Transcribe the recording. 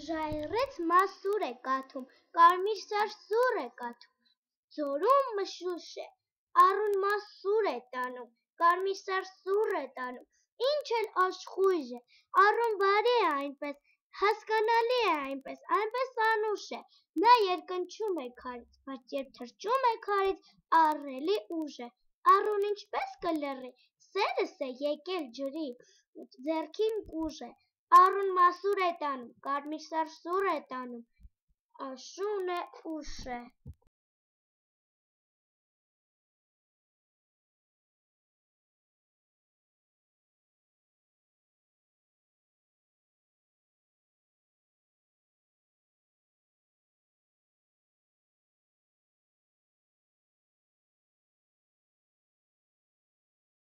Ժայռից մասուր է կաթում, կարմիր սար սուր է կաթում, ձորում մշուշ է, առուն մասուր է տանում, կարմիր սար սուր է տանում, ինչ էլ աշխույժ է, առուն բարի է այնպես, հասկանալի է այնպես անուշ է, նա երկնչում է քարից, բայց երբ թռչում է քարից, ահռելի ուժ է, առուն ինչպես կլռի, սերս է եկել ջրի, ձեռքին կուժ է, առուն մասուր է տանում, կարմիր սար սուր է տանում, աշուն է ուշ է։